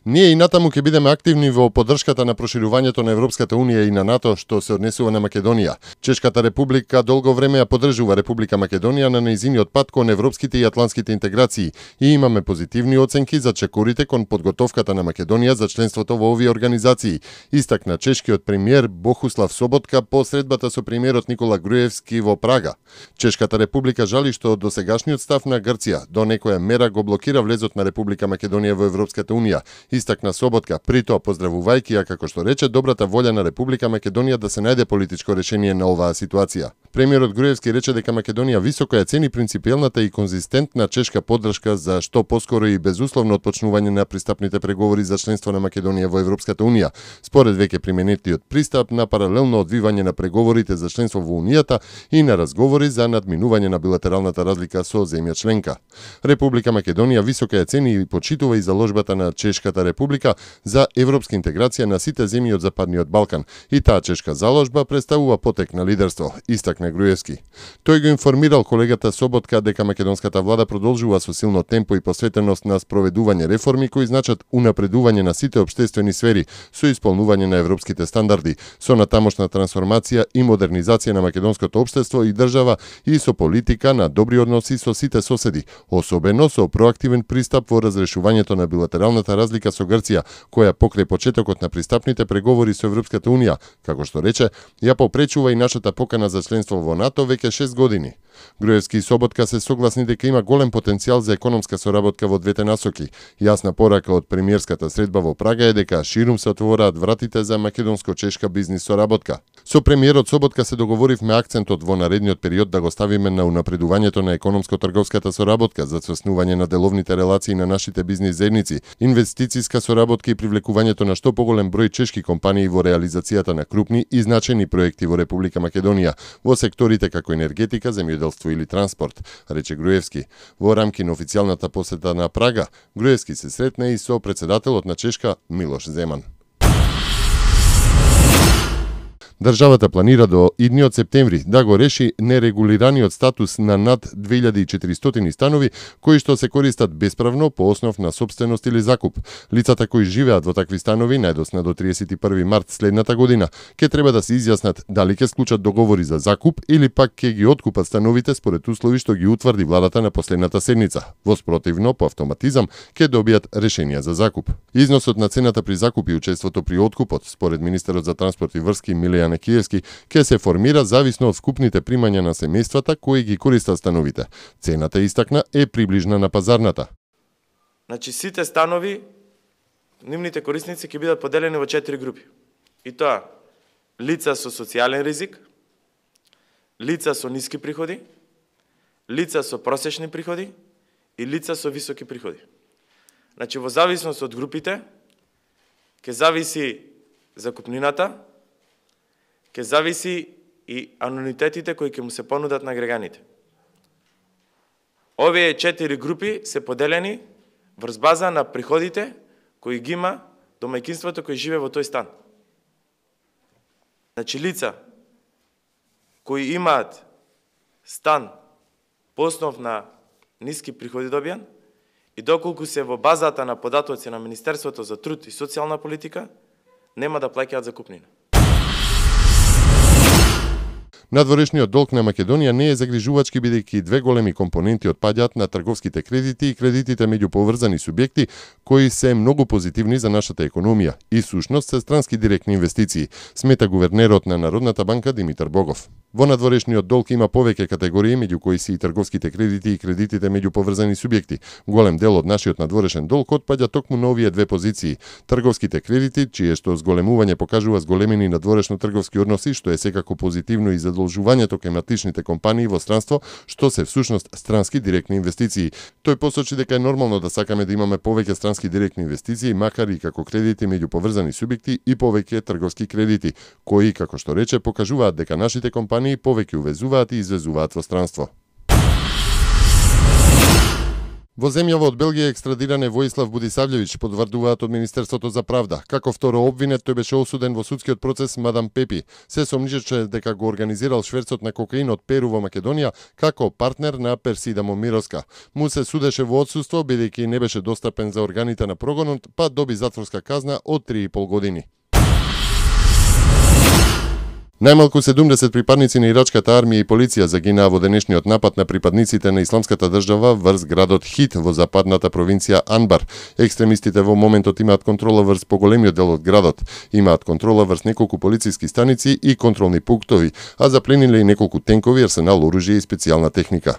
Ние и натаму ќе бидеме активни во поддршката на проширувањето на Европската Унија и на НАТО што се однесува на Македонија. Чешката република долго време ја поддржува Република Македонија на нејзиниот пат кон европските и атлантските интеграции и имаме позитивни оценки за чекорите кон подготовката на Македонија за членството во овие организации, истакна чешкиот премиер Бохуслав Соботка по средбата со премиерот Никола Груевски во Прага. Чешката република жали што досегашниот став на Грција до некоја мера го блокира влезот на Република Македонија во Европската Унија, истакна Соботка, при тоа поздравувајќи ја, како што рече, добрата волја на Република Македонија да се најде политичко решение на оваа ситуација. Премиерот Груевски рече дека Македонија високо ја цени принципиелната и конзистентна чешка поддршка за што поскоро и безусловно отпочнување на пристапните преговори за членство на Македонија во Европската Унија, според веќе применетиот пристап на паралелно одвивање на преговорите за членство во Унијата и на разговори за надминување на билатералната разлика со земја членка. Република Македонија високо ја цени и почитува и заложбата на Чешката република за европска интеграција на сите земји од Западниот Балкан и таа чешка заложба представува потек на лидерство, истакна Груевски. Тој го информирал колегата Соботка дека македонската влада продолжува со силно темпо и посветеност на спроведување реформи кои значат унапредување на сите општествени сфери со исполнување на европските стандарди, со натамошна трансформација и модернизација на македонското општество и држава и со политика на добри односи со сите соседи, особено со проактивен пристап во разрешувањето на билатералната разлика со Грција, која покрај почетокот на пристапните преговори со Европската Унија, како што рече, ја попречува и нашата покана за членство во НАТО веќе 6 години. Груевски и Соботка се согласни дека има голем потенцијал за економска соработка во двете насоки. Јасна порака од премиерската средба во Прага е дека ширум се отвораат вратите за македонско-чешка бизнис соработка. Со премиерот Соботка се договоривме акцентот во наредниот период да го ставиме на унапредувањето на економско-трговската соработка, за соснување на деловните релации на нашите бизнис заедници, инвестициска соработка и привлекувањето на што поголем број чешки компании во реализацијата на крупни и значајни проекти во Република Македонија, во секторите како енергетика, земјоделство или транспорт, рече Груевски. Во рамки на официјалната посета на Прага, Груевски се сретна и со председателот на Чешка Милош Земан. Државата планира до идниот септември да го реши нерегулираниот статус на над 2400 станови кои што се користат бесправно по основ на сопственост или закуп. Лицата кои живеат во такви станови најдосна до 31 март следната година ќе треба да се изјаснат дали ќе склучат договори за закуп или пак ќе ги откупат становите според услови што ги утврди владата на последната седница. Во спротивно, по автоматизам, ќе добијат решенија за закуп. Износот на цената при закуп и учеството при откупот, според министерот за транспорт и врски Милијан Киевски, ќе се формира зависно од вкупните примања на семејствата кои ги користат становите. Цената, истакна, е приближна на пазарната. Значи сите станови, нивните корисници ќе бидат поделени во 4 групи. И тоа лица со социјален ризик, лица со ниски приходи, лица со просечни приходи и лица со високи приходи. Значи во зависност од групите ќе зависи закупнината, ќе зависи и ануитетите кои ќе му се понудат на граѓаните. Овие 4 групи се поделени врз база на приходите кои ги има домаќинството кој живее во тој стан. Значи лица кои имаат стан по основ на ниски приходи добијан и доколку се во базата на податоци на Министерството за труд и социјална политика, нема да плаќаат закупнина. Надворешниот долг на Македонија не е загрижувачки бидејќи две големи компоненти отпаѓаат на трговските кредити и кредитите меѓу поврзани субјекти кои се многу позитивни за нашата економија и сушност се странски директни инвестиции, смета гувернерот на Народната банка Димитар Богов. Во надворешниот долг има повеќе категории меѓу кои се и трговските кредити и кредитите меѓу поврзани субјекти. Голем дел од нашиот надворешен долг отпаѓа токму на овие две позиции. Трговските кредити, чие што зголемување покажува зголемени надворешно трговски односи, што е секако позитивно и задолжувањето кај матичните компании во странство, што се всушност странски директни инвестиции. Тој посочи дека е нормално да сакаме да имаме повеќе странски директни инвестиции, макар и како кредити меѓу поврзани субјекти и повеќе трговски кредити, кои, како што рече, покажуваат дека нашите компании повеќе увезуваат и извезуваат во странство. Во земјава од Белгија екстрадиран е Воислав Будисављевиќ, потврдуваат од Министерството за правда. Како второ обвинет, тој беше осуден во судскиот процес Мадам Пепи. Се сомничеше дека го организирал шверцот на кокаин од Перу во Македонија како партнер на Персида Момировска. Му се судеше во отсуство, бидејќи не беше достапен за органите на прогонот, па доби затворска казна од 3,5 години. Најмалку 70 припадници на ирачката армија и полиција загинаа во денешниот напад на припадниците на Исламската држава врз градот Хит во западната провинција Анбар. Екстремистите во моментот имаат контрола врз поголемиот дел од градот, имаат контрола врз неколку полициски станици и контролни пунктови, а заплениле и неколку тенкови, арсенал оружје и специјална техника.